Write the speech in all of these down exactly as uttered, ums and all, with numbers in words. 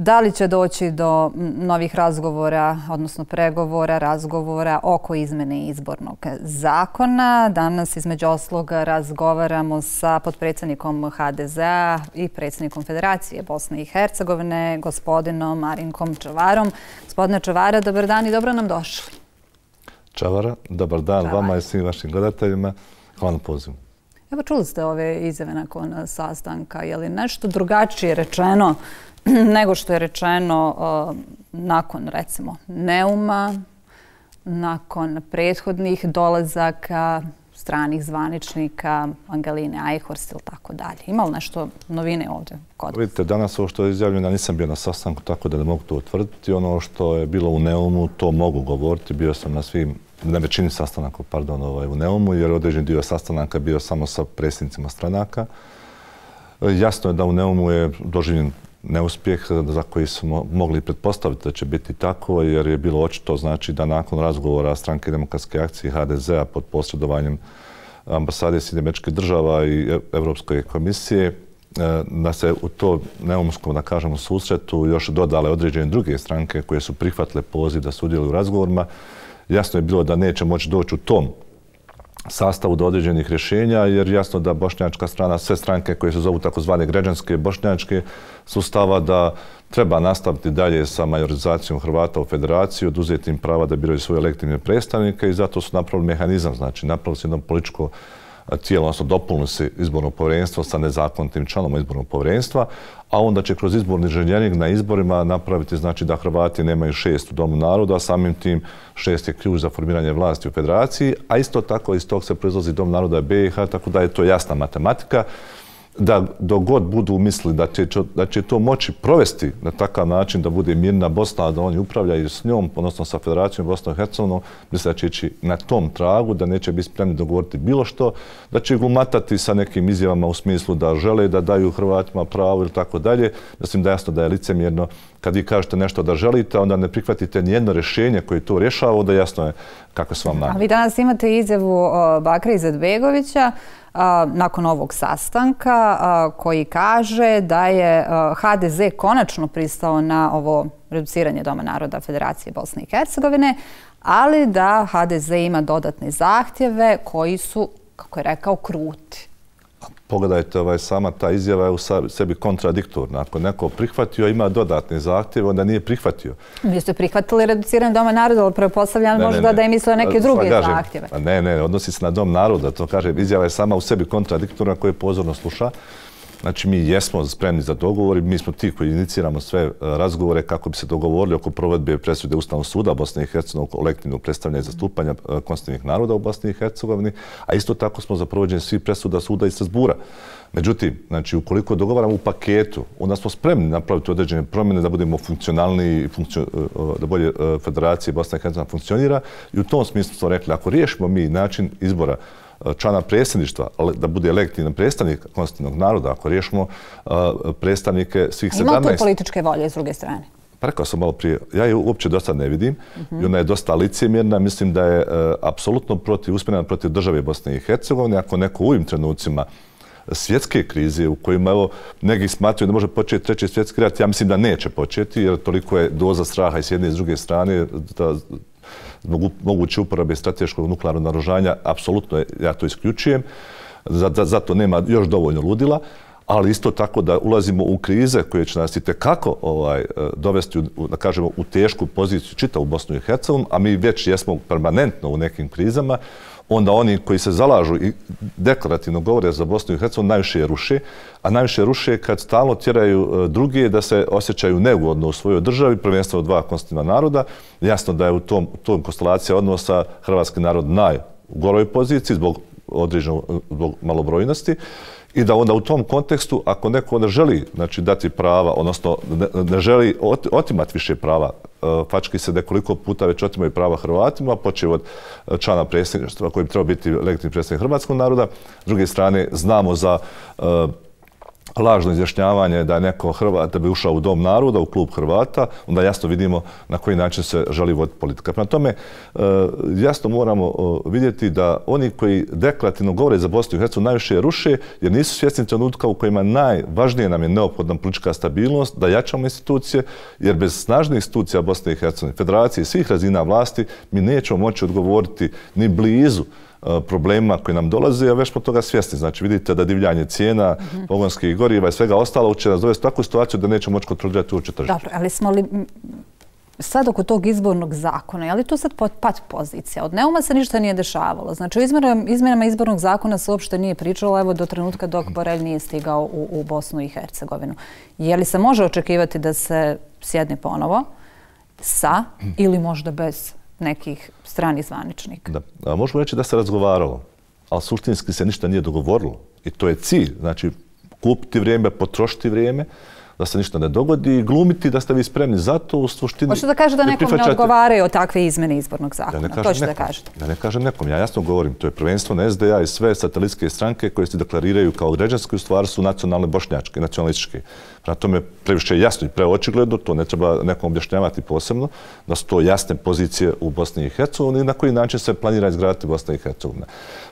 Da li će doći do novih razgovora, odnosno pregovora, razgovora oko izmene izbornog zakona? Danas između osloga razgovaramo sa potpredsjednikom ha de zea i predsjednikom Federacije Bosne i Hercegovine, gospodinom Marinkom Čavarom. Gospodine Čavara, dobar dan i dobro nam došli. Čavara, dobar dan vama i svim vašim gledateljima. Hvala na pozivu. Evo, čuli ste ove izjave nakon sastanka. Je li nešto drugačije rečeno nego što je rečeno uh, nakon, recimo, Neuma, nakon prethodnih dolazaka stranih zvaničnika, Angeline Eichhorst ili tako dalje? Ima li nešto novine ovdje kod vas? Vidite, danas ovo što je izjavljeno, nisam bio na sastanku, tako da ne mogu to utvrditi. Ono što je bilo u Neumu, to mogu govoriti. Bio sam na svim, na većini sastanaka, pardon, ovaj, u Neumu, jer određen dio sastanaka bio samo sa predsjednicima stranaka. Jasno je da u Neumu je doživljen neuspjeh za koji smo mogli pretpostaviti da će biti tako, jer je bilo očito, znači, da nakon razgovora Stranke demokratske akcije ha de zea pod posredovanjem ambasade Sjedinjenih Američkih Država i Europske komisije, da se u to neumskom, da kažemo, susretu još dodale određene druge stranke koje su prihvatile poziv da sudjeluju u razgovorima. Jasno je bilo da neće moći doći u tom sastavu do određenih rješenja, jer jasno da bošnjačka strana, sve stranke koje se zovu takozvane građanske bošnjačke, su stava da treba nastaviti dalje sa majorizacijom Hrvata u federaciji, oduzeti im prava da biraju svoje legitimne predstavnike i zato su napravili mehanizam, znači napravili su jedno političko tijelo, odnosno dopunili se izborno povjerenstvo sa nezakonitim članom izbornog povjerenstva, a onda će kroz izborni inženjering na izborima napraviti, znači, da Hrvati nemaju šest u Domu naroda, a samim tim šest je ključ za formiranje vlasti u federaciji, a isto tako iz tog se proizlazi Dom naroda be i ha, tako da je to jasna matematika, da dok god budu mislili da će, da će to moći provesti na takav način da bude mirna Bosna, da oni upravljaju s njom, odnosno sa Federacijom Bosnom i Hercegovinom, misle da će ići na tom tragu, da neće biti spremni dogovoriti bilo što, da će glumatati sa nekim izjavama u smislu da žele da daju Hrvatima pravo ili tako dalje. Mislim da je jasno da je licemjerno kad vi kažete nešto da želite, onda ne prihvatite nijedno rješenje koje to rješava, onda jasno je kako su vam namjeri. A vi danas imate izjavu Bakira Izetbegovića nakon ovog sastanka koji kaže da je ha de ze konačno pristao na ovo reduciranje Doma naroda Federacije Bosne i Hercegovine, ali da ha de ze ima dodatne zahtjeve koji su, kako je rekao, kruti. Pogledajte, ovaj, sama ta izjava je u sebi kontradiktorna. Ako neko prihvatio, ima dodatne zahtjeve, onda nije prihvatio. Vi ste prihvatili reduciranje Doma naroda, ali pretpostavljam možda da je mislio neke druge zahtjeve. Ne, ne, odnosi se na Dom naroda. To kaže, izjava je sama u sebi kontradiktorna koju pozorno sluša. Znači, mi jesmo spremni za dogovor i mi smo ti koji iniciramo sve razgovore kako bi se dogovorili oko provedbe presude Ustavnog suda Bosne i Hercegovine o kolektivnog predstavljanja i zastupanja konstitutivnih naroda u Bosni i Hercegovini, a isto tako smo za provođenje svih presuda suda iz Strasbura. Međutim, znači, ukoliko dogovaramo u paketu, onda smo spremni napraviti određene promjene da budemo funkcionalni, da bolje Federacija Bosna i Hercegovina funkcionira i u tom smislu smo rekli, ako riješimo mi način izbora člana predsjedništva, da bude legitiman predstavnik konstitutivnog naroda, ako riješimo predstavnike svih sedamnaest... Ima tu političke volje s druge strane? Pa rekao sam malo prije, ja je uopće do sad ne vidim i ona je dosta licemjerna. Mislim da je apsolutno protiv, usmjerena protiv države Bosne i Hercegovine. Ako neko u ovim trenucima svjetske krize u kojima, evo, neki smatraju da može početi treći svjetski rat, ja mislim da neće početi, jer toliko je doza straha i s jedne i s druge strane da zbog moguće uporabe strateškog nuklearnog naoružanja, apsolutno ja to isključujem. Zato nema još dovoljno ludila, ali isto tako da ulazimo u krize koje će nas itekako ovaj, dovesti u, da kažemo, u tešku poziciju čitavu Bosnu i Hercegovinu, a mi već jesmo permanentno u nekim krizama, onda oni koji se zalažu i deklarativno govore za Bosnu i Hercegovinu najviše je ruše, a najviše ruše kad stalno tjeraju druge da se osjećaju neugodno u svojoj državi, prvenstveno dva konstitutivna naroda. Jasno da je u tom, tom konstelacija odnosa hrvatski narod najgoroj poziciji zbog određenog zbog malobrojnosti i da onda u tom kontekstu, ako neko ne želi, znači, dati prava, odnosno ne, ne želi otimati više prava, fački se nekoliko puta već otimaju prava Hrvatima, počeo od člana predsjedništva koji bi trebao biti legitimni predstavnik hrvatskog naroda. S druge strane, znamo za uh, lažno izjašnjavanje da je neko Hrvat, da bi ušao u Dom naroda, u klub Hrvata, onda jasno vidimo na koji način se želi voditi politika. Prema tome, jasno moramo vidjeti da oni koji deklarativno govore za Bosnu i Hercegovinu najviše ruše, jer nisu svjesni trenutka u kojima najvažnije nam je neophodna politička stabilnost, da jačamo institucije, jer bez snažnih institucija Bosne i Hercegovine, federacije i svih razina vlasti, mi nećemo moći odgovoriti ni blizu problema koji nam dolaze, a već smo toga svjesni. Znači, vidite da divljanje cijena, mm-hmm. pogonskih goriva i svega ostalo će nas dovesti u takvu situaciju da nećemo moći kontrolirati uopće tržište. Dobro, ali smo li sad oko tog izbornog zakona, je li to sad pat pozicija? Od Neuma se ništa nije dešavalo. Znači, u izmjenama izbornog zakona se uopšte nije pričalo, evo, do trenutka dok Borelj nije stigao u, u Bosnu i Hercegovinu. Je li se može očekivati da se sjedne ponovo sa ili možda bez nekih stranih zvaničnika? Da. A možemo reći da se razgovaralo, ali suštinski se ništa nije dogovorilo. I to je cilj. Znači, kupiti vrijeme, potrošiti vrijeme, da se ništa ne dogodi i glumiti da ste vi spremni za to u suštini. Hoćete da kažete da nekom ne odgovaraju o takve izmene izbornog zakona? Ja to ćete da kažete. Ja ne kažem nekom. Ja jasno govorim. To je prvenstveno S D A i sve satelitske stranke koje se deklariraju kao građanske, u stvari su nacionalne bošnjačke, nacionalističke. Prema tome previše jasno i preočigledno, to ne treba nekom objašnjavati posebno, da su to jasne pozicije u Bosni i Hercegovini i na koji način se planira izgraditi Bosna i Hercegovina.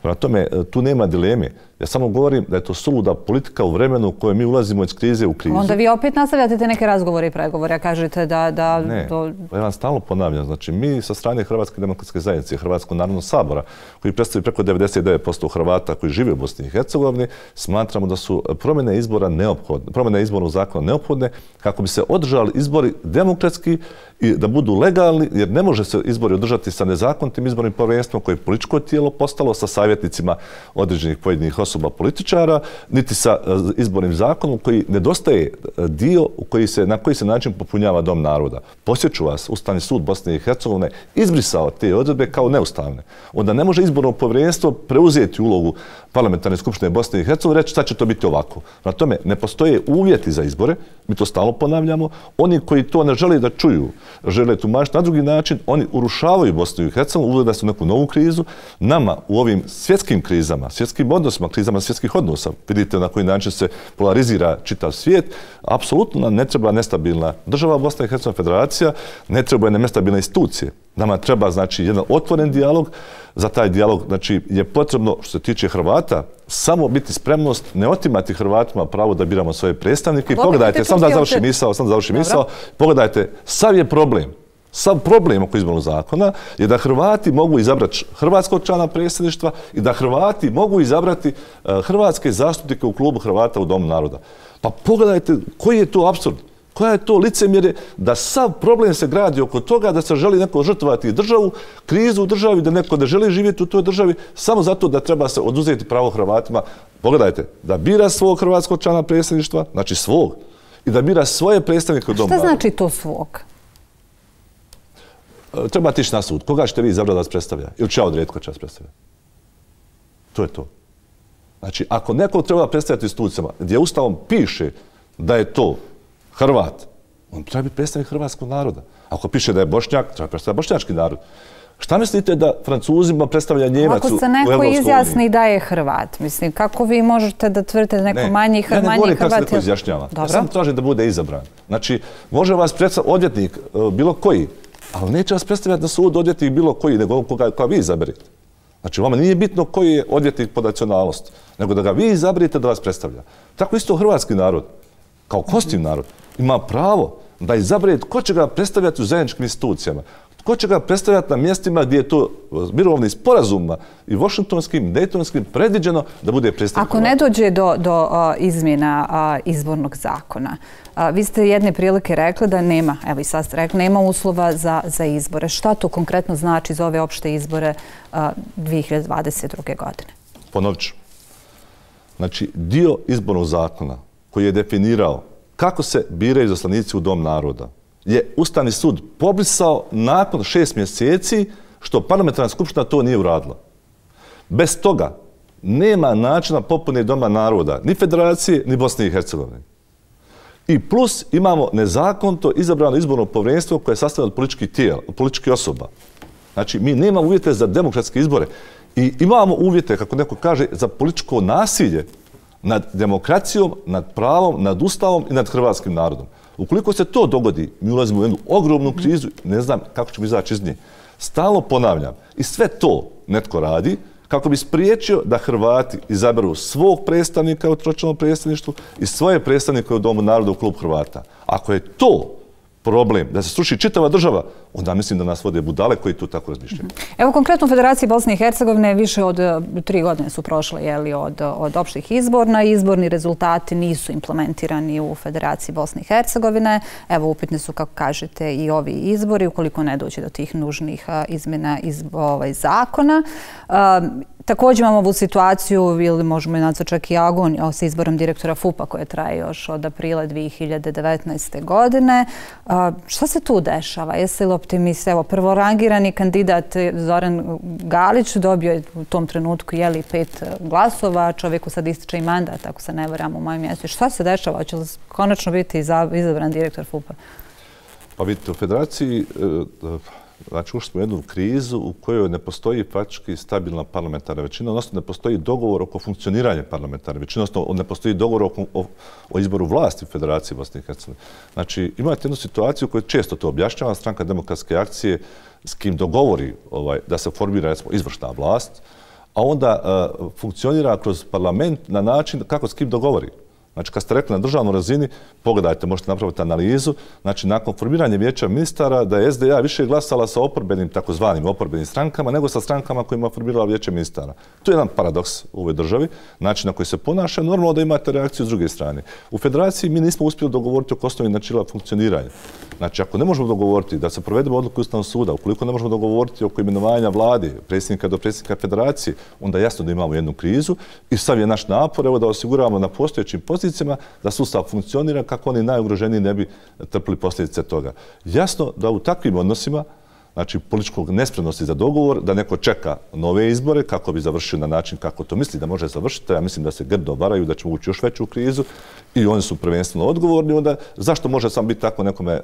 Prema tome, tu nema dileme. Ja samo govorim da je to suluda politika u vremenu u kojoj mi ulazimo iz krize u krizu. Onda vi opet nastavljate te neke razgovore i pregovore, a kažete da... da ne, do... pa ja vam stalno ponavljam. Znači, mi sa strane Hrvatske demokratske zajednice, Hrvatskog narodnog sabora, koji predstavljaju preko devedeset devet posto Hrvata koji žive u Bosni i Hercegovini, smatramo da su promjene izbora neophodne, promjene izbornog zakona neophodne kako bi se održali izbori demokratski i da budu legalni, jer ne može se izbori održati sa nezakonitim izbornim povjerenstvom koje je političko tijelo postalo sa savjetnicima određenih pojedinih osoba političara, niti sa izbornim zakonom koji nedostaje dio u koji se, na koji se način popunjava Dom naroda. Posjeću vas, Ustavni sud Bosne i Hercegovine izbrisao te odredbe kao neustavne. Onda ne može izborno povjerenstvo preuzeti ulogu Parlamentarne skupštine Bosne i Hercegovine i reći šta će to biti ovako. Na tome ne postoje uvjeti za izbore, mi to stalno ponavljamo. Oni koji to ne žele da čuju, žele tumačiti na drugi način, oni urušavaju Bosnu i Hercegovinu, uvode se u neku novu krizu. Nama u ovim svjetskim krizama, svjetskim odnosima, krizama svjetskih odnosa, vidite na koji način se polarizira čitav svijet, apsolutno nam ne treba nestabilna država Bosna i Hercegovina federacija, ne treba nestabilne institucije. Nama treba, znači, jedan otvoren dijalog. Za taj dijalog, znači, je potrebno, što se tiče Hrvata, samo biti spremnost, ne otimati Hrvatima pravo da biramo svoje predstavnike. I pogledajte, sam da završim misao, sam da završim misao, pogledajte, sav je problem, sav problem oko izbornog zakona je da Hrvati mogu izabrati hrvatskog člana predsjedništva i da Hrvati mogu izabrati hrvatske zastupnike u klubu Hrvata u Domu naroda. Pa pogledajte koji je to apsurd. Koja je to licemjerje da sav problem se gradi oko toga da se želi neko žrtvovati državu, krizu u državi, da neko ne želi živjeti u toj državi, samo zato da treba se oduzeti pravo Hrvatima. Pogledajte, da bira svog hrvatskog člana predsjedništva, znači svog, i da bira svoje predstavnike u Domu naroda. Šta znači to svog? Trebate ići na sud. Koga ćete vi izabrati da vas predstavlja? Ili će ja odrediti ko će vas predstavlja? To je to. Znači, ako nekog treba predstavljati institucijama gdje Ustavom piše da je to Hrvat, on treba biti predstavnik hrvatskog naroda. Ako piše da je Bošnjak, treba predstavljati bošnjački narod. Šta mislite da Francuzima predstavlja Njemac u Europskoj uniji? Ako se neko izjasni da je Hrvat, mislim, kako vi možete da tvrdite da neko manji Hrvat? Ja ne govorim kako se neko izjašnjava. Ja sam tražim da bude izabran. Znači, može vas predstavljati odvjetnik bilo koji, ali neće vas predstavljati na sud odvjetnik bilo koji, nego koga vi izaberete. Znači, vama nije bitno koji je odvjetnik po nacionalnosti, nego da ga vi izaberete da vas predstavlja. Tako isto hrvatski narod, kao konstitutivni narod, ima pravo da izabere ko će ga predstavljati u zajedničkim institucijama, ko će ga predstavljati na mjestima gdje je to mirovnim sporazumima i washingtonskim, dejtonskim predviđeno da bude predstavljeno. Ako ne dođe do, do uh, izmjena uh, izbornog zakona, uh, vi ste jedne prilike rekli da nema, evo i sad ste rekli, nema uslova za, za izbore. Šta to konkretno znači za ove opšte izbore uh, dvije hiljade dvadeset druge. godine? Ponovit ću. Znači, dio izbornog zakona koji je definirao kako se biraju izaslanici u Dom naroda je Ustavni sud pobrisao nakon šest mjeseci što parlamentarna skupština to nije uradila. Bez toga nema načina popune Doma naroda, ni federacije, ni Bosne i Hercegovine. I plus imamo nezakonito izabrano izborno povjerenstvo koje je sastavljeno od političkih tijela, od političkih osoba. Znači, mi nemamo uvjete za demokratske izbore i imamo uvjete, kako neko kaže, za političko nasilje. nad demokracijom, nad pravom, nad ustavom i nad hrvatskim narodom. Ukoliko se to dogodi, mi ulazimo u jednu ogromnu krizu, ne znam kako ćemo izaći iz nje. Stalno ponavljam, i sve to netko radi kako bi spriječio da Hrvati izaberu svog predstavnika u tročlanom predstavništvu i svoje predstavnike u Domu naroda u Klub Hrvata. Ako je to problem da se sruši čitava država, onda mislim da nas vode budale koji tu tako razmišljaju. Evo konkretno u Federaciji Bosne i Hercegovine više od tri godine su prošle jeli, od, od opštih izborna. Izborni rezultati nisu implementirani u Federaciji Bosne i Hercegovine. Evo upitni su, kako kažete, i ovi izbori, ukoliko ne dođe do tih nužnih izmjena iz ovaj, zakona. Um, Također imamo ovu situaciju, ili možemo je nazvati čak i agoniju, sa izborom direktora F U P-a koje traje još od aprila dvije hiljade devetnaeste. godine. A, šta se tu dešava? Jeste li optimist? Evo, prvorangirani kandidat Zoran Galić dobio je u tom trenutku jeli, pet glasova, čovjeku sad ističe i mandat, ako se ne varam u mojem mjestu. Šta se dešava? Hoće li konačno biti izabran direktor F U P-a? Pa vidite, u Federaciji znači ušli smo u jednu krizu u kojoj ne postoji praktički stabilna parlamentarna većina, odnosno ne postoji dogovor oko funkcioniranja parlamentarne većine, odnosno ne postoji dogovor oko, o, o izboru vlasti u Federaciji Bosne i Hercegovine. Znači imate jednu situaciju koju često to objašnjava, Stranka demokratske akcije s kim dogovori ovaj, da se formira recimo, izvršna vlast, a onda uh, funkcionira kroz parlament na način kako s kim dogovori. Znači, kad ste rekli na državnoj razini, pogledajte, možete napraviti analizu, znači, nakon formiranja vijeća ministara, da je S D A više glasala sa oporbenim, takozvanim oporbenim strankama, nego sa strankama kojima formirala vijeće ministara. To je jedan paradoks u ovoj državi, način na koji se ponaša, normalno da imate reakciju s druge strane. U Federaciji mi nismo uspjeli dogovoriti oko osnovnih načela funkcioniranja. Znači, ako ne možemo dogovoriti da se provedemo odluku Ustavnog suda, ukoliko ne možemo dogovoriti oko imenovanja vlade, predsjednika do predsjednika Federacije, onda jasno da imamo jednu krizu i sad je naš napor evo, da osiguramo na postojećim pozicijama da sustav funkcionira kako oni najugroženiji ne bi trpili posljedice toga. Jasno da u takvim odnosima, znači političkog nespremnosti za dogovor, da neko čeka nove izbore kako bi završio na način kako to misli da može završiti. Ja mislim da se grdo varaju, da ćemo ući još veću krizu i oni su prvenstveno odgovorni. Onda zašto može sam biti tako nekome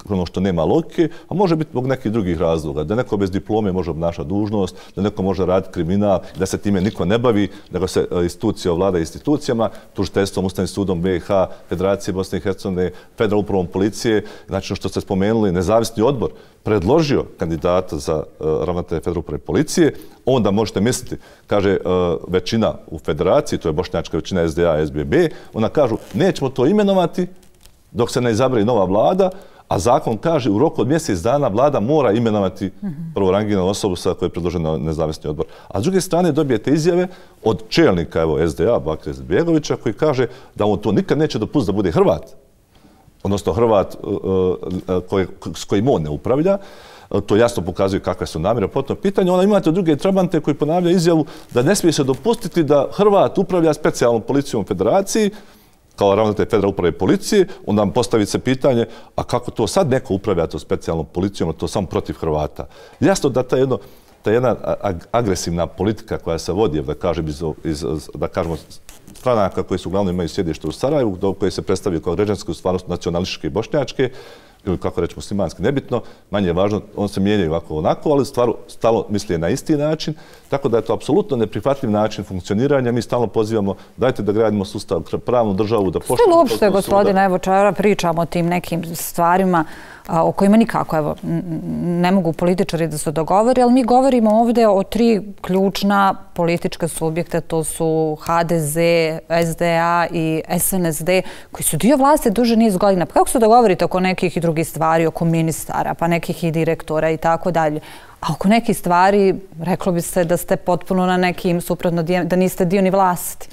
ono što nema logike, a može biti zbog nekih drugih razloga. Da neko bez diplome može obnašati dužnost, da neko može raditi kriminal, da se time niko ne bavi, nego se institucija ovlada institucijama, tužiteljstvom, Ustavnim sudom B i H, Federacije Bosne i Hercegovine, Federalnom upravom policije, znači što ste spomenuli, nezavisni odbor predložio kandidata za uh, ravnatelja Federalne uprave policije, onda možete misliti, kaže uh, većina u Federaciji, to je bošnjačka većina S D A, S B B, ona kažu nećemo to imenovati dok se ne izabere nova vlada, a zakon kaže u roku od mjesec dana vlada mora imenovati mm-hmm. prvorangiranu osobu sa kojoj je predložen nezavisni odbor. A s druge strane dobijete izjave od čelnika evo, S D A, Bakira Izetbegovića, koji kaže da on to nikad neće dopustiti da bude Hrvat, odnosno Hrvat koji, s kojim on ne upravlja. To jasno pokazuje kakve su namjere po tom pitanju. Onda imate druge trabante koji ponavljaju izjavu da ne smije se dopustiti da Hrvat upravlja specijalnom policijom Federaciji, kao ravnatelj Federalne uprave policije, onda vam postavi se pitanje, a kako to sad neko upravlja to specijalnom policijom, a to samo protiv Hrvata. Jasno da ta jedno ta jedna agresivna politika koja se vodi, da kažem, iz, iz, da kažemo, stranaka koje su uglavnom imaju sjedište u Sarajevu, do koje se predstavljaju kao građanske, u stvarnosti nacionalističke i bošnjačke, ili kako reći muslimanski, nebitno, manje je važno, on se mijenjaju ovako onako, ali stvarno stalo misli na isti način, tako da je to apsolutno neprihvatljiv način funkcioniranja. Mi stalno pozivamo, dajte da gradimo sustav, pravnu državu, da poštujemo... Što uopšte, gospodine, evo čara pričamo o tim nekim stvarima a, o kojima nikako, evo, ne mogu političari da se dogovori, ali mi govorimo ovdje o tri ključna politička subjekta, to su H D Z, S D A i S N S D, koji su dio vlasti duže niz godina. Pa kako se dogovorite oko nekih i drugih stvari, oko ministara, pa nekih i direktora i tako dalje? A oko nekih stvari, reklo bi se da ste potpuno na nekim suprotno, da niste dio ni vlasti.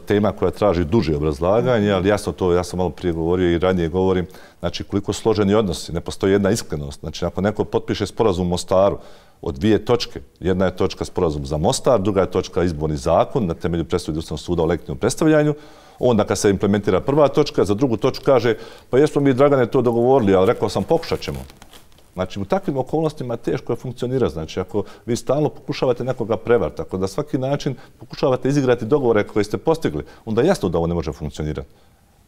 Tema koja traži duže obrazlaganje, ali jasno to, ja sam malo prije govorio i ranije govorim, znači koliko složeni odnosi, ne postoji jedna iskrenost. Znači ako neko potpiše sporazum u Mostaru od dvije točke, jedna je točka sporazum za Mostar, druga je točka izborni zakon na temelju presude Ustavnog suda o legitimnom predstavljanju, onda kad se implementira prva točka, za drugu točku kaže pa jesmo mi Dragane to dogovorili, ali rekao sam pokušat ćemo. Znači, u takvim okolnostima teško je funkcionira. Znači, ako vi stalno pokušavate nekoga prevariti, ako da svaki način pokušavate izigrati dogovore koje ste postigli, onda jasno da ovo ne može funkcionirati.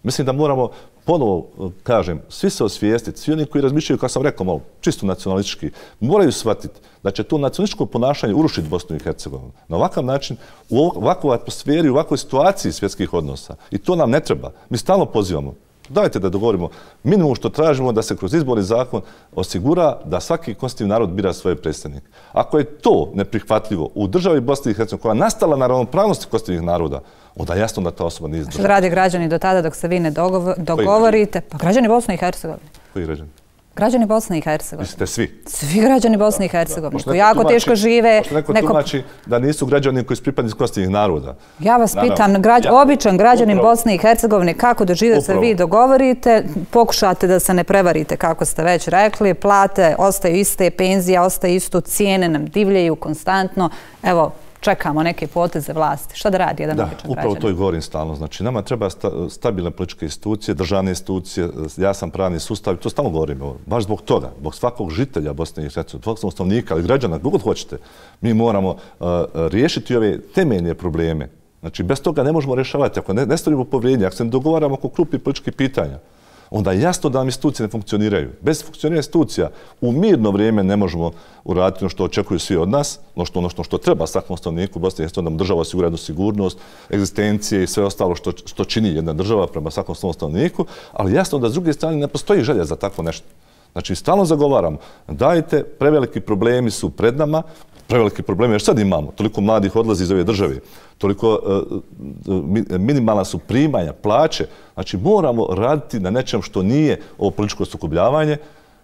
Mislim da moramo ponovo, kažem, svi se osvijestiti, svi oni koji razmišljaju, kao sam rekao, malo čisto nacionalistički, moraju shvatiti da će to nacionalističko ponašanje urušiti Bosnu i Hercegovinu. Na ovakav način, u ovakvoj atmosferi, u ovakvoj situaciji svjetskih odnosa. I to nam ne treba. Mi stalno pozivamo. Dajte da dogovorimo. Minimum što tražimo da se kroz izborni zakon osigura da svaki konstitutivni narod bira svoje predstavnike. Ako je to neprihvatljivo u državi Bosne i Hercegovine, koja je nastala na ravnopravnosti konstitutivnih naroda, onda je jasno da ta osoba nije izdržava. Što rade građani do tada dok se vi ne dogovorite? Pa građani Bosne i Hercegovine. Koji građani? Građani Bosne i Hercegovine. Mislite svi? Svi građani Bosne i Hercegovine. Koji jako teško žive. Možda neko tumači da nisu građani koji su pripadnici konstitutivnih naroda. Ja vas pitam, običan građanin Bosne i Hercegovine, kako da žive se vi dogovorite, pokušate da se ne prevarite, kako ste već rekli, plate ostaju iste, penzija ostaje isto, cijene nam divljaju konstantno. Evo, čekamo neke poteze vlasti. Šta da radi jedan običan građanin? Da, upravo to i govorim stalno. Znači, nama treba stabilne političke institucije, državne institucije, jasan pravni sustav, i to stalno govorimo. Baš zbog toga, zbog svakog žitelja Bosne i Hercegovine, svakog stanovnika, ali građana, kako god hoćete, mi moramo riješiti ove temeljne probleme. Znači, bez toga ne možemo rješavati. Ako ne stavimo povjerenje, ako se ne dogovaramo oko krupnih političkih pitanja, onda je jasno da nam institucije ne funkcioniraju. Bez funkcioniranja institucija u mirno vrijeme ne možemo uraditi ono što očekuju svi od nas, ono što, ono što treba svakom stanovniku Bosne i Hercegovine, da mu država osigura jednu sigurnost, egzistencije i sve ostalo što, što čini jedna država prema svakom svom stanovniku, ali jasno da s druge strane ne postoji želja za tako nešto. Znači, stalno zagovaram, dajte, preveliki problemi su pred nama, preveliki problemi, jer sad imamo, toliko mladih odlazi iz ove države, toliko minimalna su primanja, plaće, znači moramo raditi na nečem što nije ovo političko sukobljavanje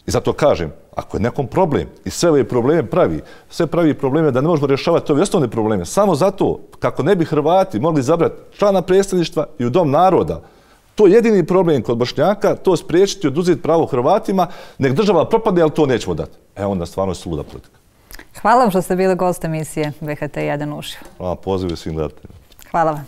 i zato kažem, ako je nekom problem i sve ove probleme pravi, sve pravi probleme da ne možemo rješavati ove osnovne probleme, samo zato kako ne bi Hrvati mogli izabrati člana predstavništva i u Dom naroda, to je jedini problem kod Bošnjaka, to spriječiti, oduzeti pravo Hrvatima, nek država propadne, ali to nećemo dati. E onda stvarno je suluda politika. Hvala vam što ste bili gost emisije B H T jedan uživo. Hvala, poziv svim gledateljima. Hvala vam.